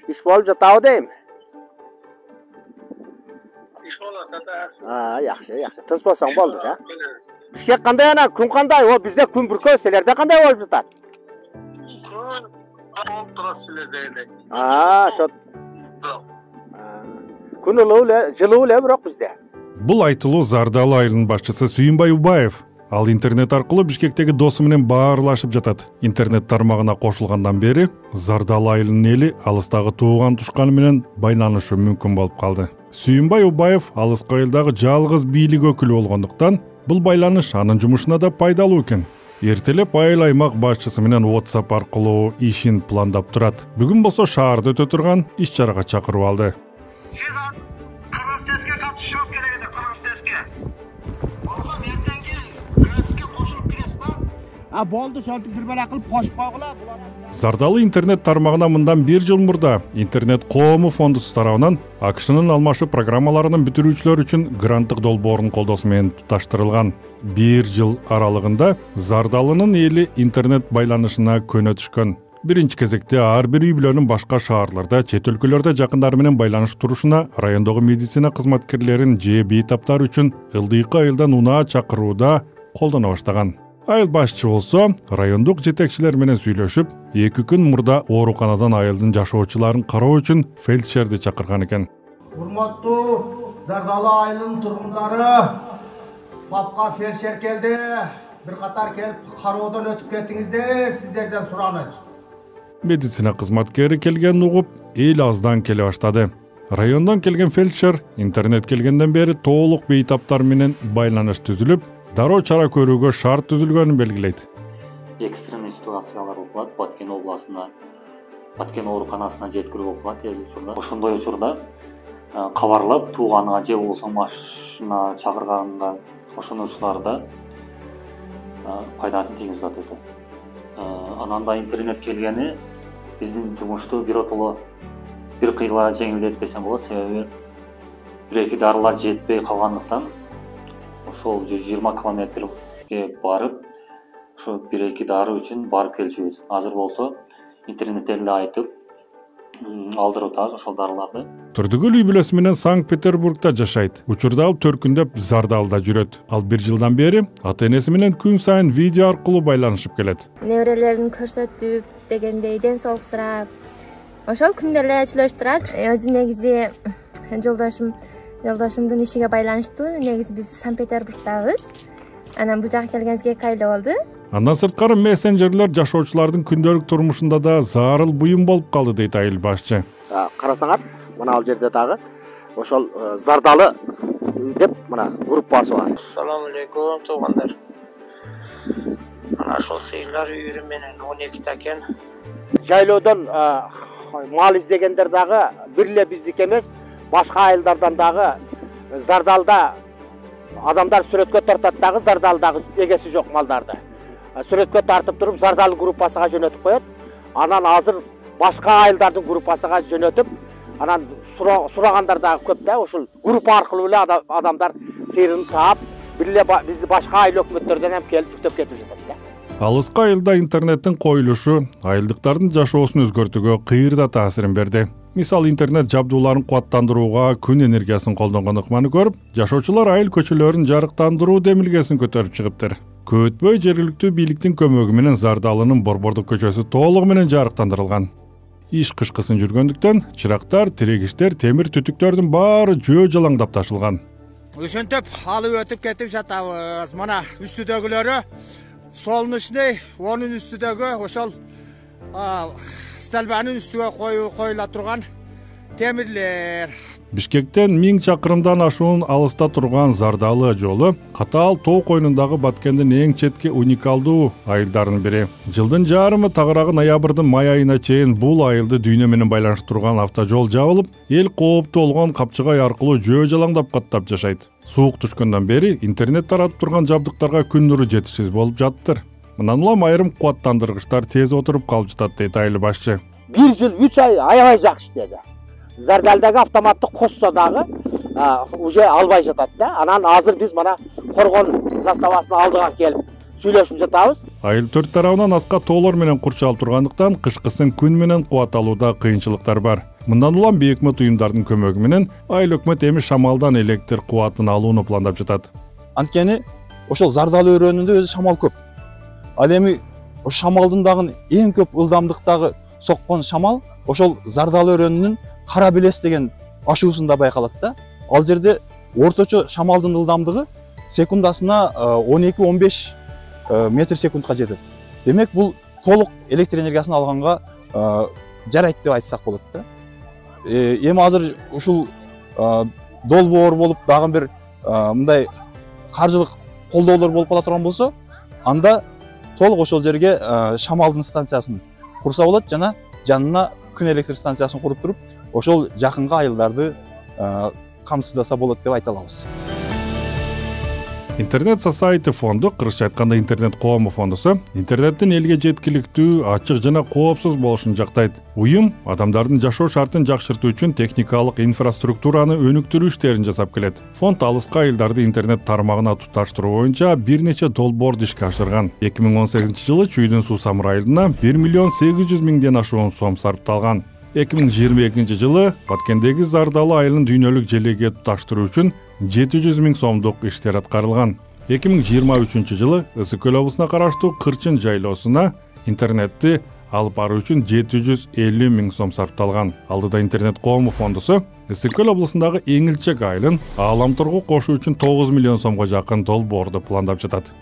Иш болуп жатабы дейм. Иш болот атасы. Жакшы. Тыз болсоң болду да. Бишкек кандай ана, күн кандай? О, бизде күн бүркөө, силерде кандай болуп жатат? Күн болуп турат силерде эле. Ошо. Күн ылуу эле, жылуу эле бирок бизде. Бул айтылуу Зардалы айылынын башчысы Сүйүнбай Убаев. Ал интернет аркылуу Бишкектеги досу менен баарлашып жатат. Интернет тармагына кошулгандан бери Зардалы айылынын эли алыстагы тууган тушканы менен байланышы мүмкүн болуп калды. Сүйүнбай Убаев алыскы айылдагы жалгыз бийлик өкүлү болгондуктан бул байланыш анын жумушуна да пайдалуу экен. Эртелеп айыл аймак башчысы менен WhatsApp аркылуу ишин пландап турат. Бүгүн болсо шаарда өтө турган иш-чарага чакырып алды. Сиз Карастеске катышыңыз керек эди, Карастеске. Болсо эртеңки графикке кошулуп киресиз да? Болду, шонтип бир бала кылып кошуп койгула. Зардалы интернет тармагына мындан 1 жыл мурда интернет коому фондусу тарабынан АКШнын алмашуу программаларынын бүтүрүүчүлөр үчүн гранттык долбоордун колдоосу менен туташтырылган. 1 жыл аралыгында Зардалынын эли интернет байланышына көнө түшкөн. Биринчи кезекте ар бир үй бүлөнүн башка шаарларда, чет өлкөлөрдө жакындары менен байланышып турушуна райондогу медицина кызматкерлерин же бейтаптар үчүн ылдыйкы айылдан унаа чакырууда колдоно баштаган. Айыл башчы болсо райондук жетекчилер менен сүйлөшүп, 2 күн мурда ооруканадан айылдын жашоочуларын кароо үчүн фельдшерди чакырган экен. Урматтуу Зардалы айылынын тургундары, ФАПка фельдшер келди. Бир катар келип кароодон өтүп кеттиңиздер, сиздерден сурамыз. Медицина кызматкери келгенин угуп, эл аздан келе баштады. Райондон келген фельдшер интернет келгенден бери толук бейтаптар менен байланыш түзүлүп, дароо чара көрүүгө шарт түзүлгөнүн белгилейт. Экстремий ситуациялар болуп калат, Баткен областына, Баткен ооруканасына жеткирүү болуп калат тез учурда. Ошондой учурда кабарлап, тууганга же болбосо машина чакырганга ошонучуларда пайдасын тийгизип атат. Анан да интернет келгени биздин жумушту биротоло бир кыйла жеңилдетти десем болот, себеби 1-2 дарылар жетпей калгандыктан ошол 120 километрге барып, ошо 1-2 дары үчүн барып келчүбүз. Азыр болсо интернеттен эле айтып алдырып атабыз ошол дарыларды. Турдугүл үй бүлөсү менен Санкт-Петербургда жашайт. Учурда ал төркүндөп Зардалда жүрөт. Ал 1 жылдан бери ата-энеси менен күн сайын видео аркылуу байланышып келет. Неберелерин көрсөтүп, дегендей ден соолук сурап, ошол күндө эле сүйлөшүп турат. Өзү негизи жолдошумдун ишиге байланыштуу. Негизи биз Санкт-Петербургдабыз. Анан бул жака келгенибизге 2 ай болду. Андан сырткары мессенжерлер жашоочулардын күндөлүк турмушунда да зарыл буюм болуп калды дейт айыл башчы. Карасаңар, мына ал жерде дагы ошол Зардалы деп мына группасы бар. Assalamu alaikum туугандар. Мына ошол сыйлар үйрү менен 12 экен. Жайлоодон мал издегендер дагы бир эле биздики эмес, башка айылдардан дагы Зардалда адамдар сүрөткө тартат дагы Зардалдагы эгеси жок малдарды. Сүрөткө тартып туруп Зардалы группасына жөнөтүп коет. Анан азыр башка айылдардын группасына жөнөтүп, анан сурагандар дагы көп да, ошол группа аркылуу эле адамдар сыйрын таап, бир эле бизди башка айыл өкмөттөрдөн ham келип жүктөп кетип жатат да. Алыскы айылда интернеттин коюлушу айылдыктардын жашоосун өзгөртүүгө кыйырда таасирин берди. Мисалы интернет жабдууларын кубаттандырууга күн энергиясын колдонгон ыкманы көрүп, жашоочулар айыл көчөлөрүн жарыктандыруу демилгесин көтөрүп чыгыптыр. Көп өтпөй жергиликтүү бийликтин көмөгү менен Зардалынын Борбордук көчөсү толугу менен жарыктандырылган. Иш кышкысын жүргөндүктөн чырактар, тирегичтер, темир түтүктөрдүн баары жөө жалаңдап ташылган. Ошентип алып өтүп кетип жатабыз. Мына үстүдөгүлөрү солнечный, онун үстүдөгү ошол столбанын үстүгө коюла турган темирлер. Бишкектен 1000 чакырымдан ашуун алыста турган Зардалы жолу катаал тоо койнундагы Баткендин эң четки уникалдуу айылдарынын бири. Жылдын жарымы тагыраагы ноябрдын май айына чейин бул айылды дүйнө менен байланыштырган автожол жабылып, эл кооптуу болгон Капчыгай аркылуу жөө жалаңдап каттап жашайт. Суук түшкөндөн бери интернет таратып турган жабдыктарга күн нуру жетишсиз болуп жаттыр. Мындан улам айрым кубаттандыргычтар тез отуруп калып жатат дейт айыл башчы. 1 жыл 3 ай аябай жакшы иштеди. Зардалдагы автоматтык косса дагы уже албай жатат да. Анан азыр биз мана Коргон заставасына алдыга келип сүйлөшүп жатабыз. Айыл төрт тарабынан аска тоолор менен курчалып тургандыктан кышкысын күн менен кубат алууда кыйынчылыктар бар. Мындан улам бейөкмөт уюмдардын көмөгү менен айыл өкмөт эми шамалдан электр кубатын алууну пландап жатат. Анткени ошол Зардал өрөөнүндө өзү шамал көп. Ал эми ошол шамалдын дагы эң көп ылдамдыктагы соккон шамал ошол Зардал өрөөнүнүн Кара Белес деген ашуусунда байкалат да. Ал жерде орточо шамалдын ылдамдыгы секундасына 12-15 метр секундка жетет. Демек бул толук электр энергиясын алганга жарайт деп айтсак болот да. Эми азыр ушул долбоор болуп дагы бир мындай каржылык колдоолор болуп кала турган болсо, анда толук ошол жерге шамалдын станциясын курса болот жана жанына күн электр станциясын куруп туруп, ошол жакынкы айылдарды камсыздаса болот деп айта алабыз. Интернет Society фонду, кыргызча айтканда интернет коому фондусу, интернеттин элге жеткиликтүү, ачык жана коопсуз болушун жактайт. Уюм адамдардын жашоо шартын жакшыртуу үчүн техникалык инфраструктураны өнүктүрүү иштерин жасап келет. Фонд алыскы айылдарды интернет тармагына туташтыруу боюнча бир нече долбоорду ишке ашырган. 2018-жылы Чүйдүн суу самыр айылына 1,8 миллион ашуун сом сарпталган. 2022-жылы Баткендеги Зардалы айылын дүйнөлүк желеге туташтыруу үчүн 700 000 сомдук иштер аткарылган. 2023-жылы Ысык Көл облусуна караштуу Кырчын жайлоосуна интернетти алып баруу үчүн 750 000 сом сарпталган. Алдыда интернет коому фондусу Ысык Көл облусундагы Эңилчек айылын ааламтургу кошуу үчүн 9 миллион сомго жакын долбоорду пландап жатат.